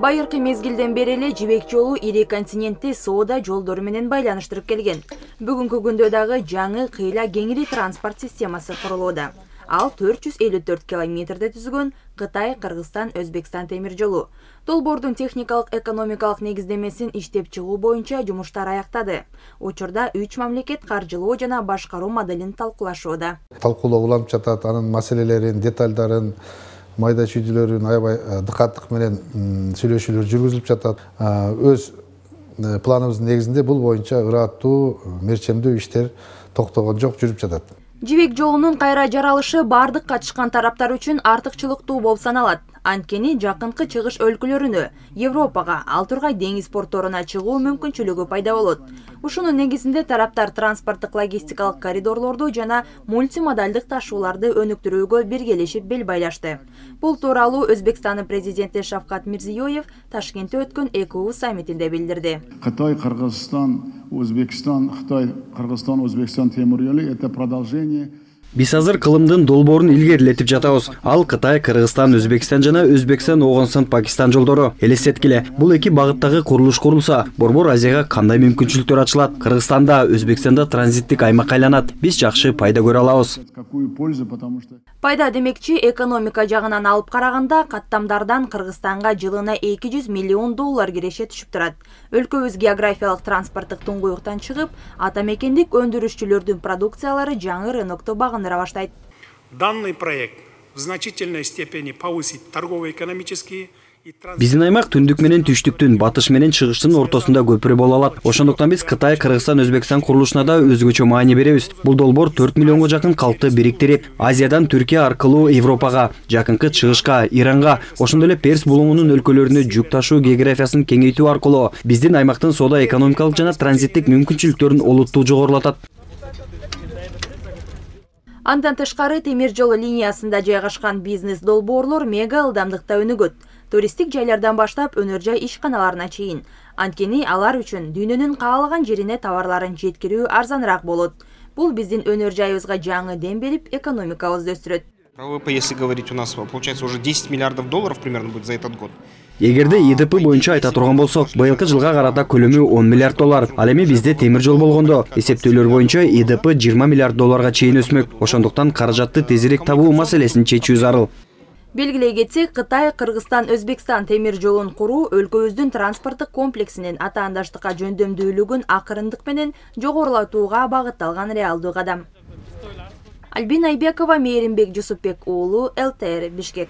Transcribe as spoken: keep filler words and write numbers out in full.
Байыркы мезгилден бери эле жибек жолу ири континентти соода жолдору менен байланыштырып келген. Бүгүнкү күндө дагы жаңы кыйла кеңири транспорт системасы курулууда. Ал төрт жүз элүү төрт километрде түзгөн Кытай, Кыргызстан, Өзбекстан темир жолу. Долбоордун техникалык экономикалык негиздемесин иштеп чыгуу боюнча жумуштар аяктады. Учурда үч мамлекет каржылоо жана башкаруу моделин талкуулашууда. Талкуулоо уланып жатат, анын маселелерин, детальдарын, майда чүйдүлөрүн аябай дыкаттык менен сүйлөшүүлөр жүргүзүлүп жатат. Өз планыбыздын негизинде бул боюнча ыраттуу, мерчемдүү иштер токтогон жок, жүрүп жатат. Жибек жолунун кайра жаралышы бардык катышкан тараптар үчүн артыкчылыктуу болуп саналат. Анткени жакынкы чыгыш өлкөлөрүнө, Европага, ал тургай деңиз портторуна чыгуу мүмкүнчүлүгү пайда болот. Ушунун негизинде тараптар транспорттук логистикалык коридорлорду жана мультимодалдык ташууларды өнүктүрүүгө биргелешип бел байлашты. Бул тууралуу Өзбекстандын президенти Шавкат Мирзиёев Ташкентте өткөн ЭКУ саммитинде билдирди. Кытай, Кыргызстан, Өзбекстан, Кытай, Кыргызстан, Өзбекстан темир жолу это продолжение. Биз азыр кылымдын долбоорун илгерилетип жатабыз. Ал Кытай, Кыргызстан, Өзбекстан жана Өзбекстан, Оғонстан, Пакистан жолдору. Элестеткиле, бул эки багыттагы курулуш курулса, Борбор Азияга кандай мүмкүнчүлүктөр ачылат? Кыргызстанда, Өзбекстанда транзиттик аймак айланат. Биз жакшы пайда көрө алабыз. Пайда демекчи, экономика жагынан алып караганда каттамдардан Кыргызстанга жылына эки жүз миллион доллар киреше түшүп турат. Өлкөбүз географиялык транспорттук туңгуюктан чыгып, ата мекендик өндүрүшчүлөрдүн продукциялары жаңы рынокто багындыра баштайт. Данный проект в значительной степени повысит торгово-экономические. Биздин аймак түндүк менен түштүктүн, батыш менен чыгыштын ортосунда көпүрө боло алат. Ошондуктан биз Кытай, Кыргызстан, Өзбекстан курулушуна да өзгөчө маани беребиз. Бул долбоор төрт миллионго жакын калкты бириктирип, Азиядан Түркия аркылуу Европага, жакынкы чыгышка, Иранга, ошондой эле Перс булуңунун өлкөлөрүнө жүк ташуу географиясын кеңейтүү аркылуу биздин аймактын соода экономикалык жана транзиттик мүмкүнчүлүктөрүн олуттуу жогорулатат. Андан тышкары темир жол линиясында жайгашкан бизнес долбоорлор мега ылдамдыкта өнүгөт. Туристтик жайлардан баштап өнөр жай ишканаларына чейин. Анткени алар үчүн дүйнөнүн каалаган жерине товарларын жеткирүү арзаныраак болот. Бул биздин өнөр жайыбызга жаңы дем берип, экономикабызды өстүрөт. ВВП, если говорить, у нас получается уже десять миллиардов долларов примерно будет за этот год. Эгерде И Д П боюнча айта турган болсок, быйылкы жылга карата көлөмү он миллиард доллар. Ал эми бизде темир жол болгондо эсептөөлөр боюнча И Д П жыйырма миллиард долларга чейин өсмөк. Ошондуктан каражатты тезирээк табуу маселесин чечүү зарыл. Белгилей кетсек, Кытай, Кыргызстан, Өзбекстан темир жолун куруу өлкөбүздүн транспорттук комплексинин атаандаштыкка жөндөмдүүлүгүн акырындык менен жогорулатууга багытталган реалдуу кадам. Альбина Айбекова, Мээринбек Жусупбек уулу, Л Т Р, Бишкек.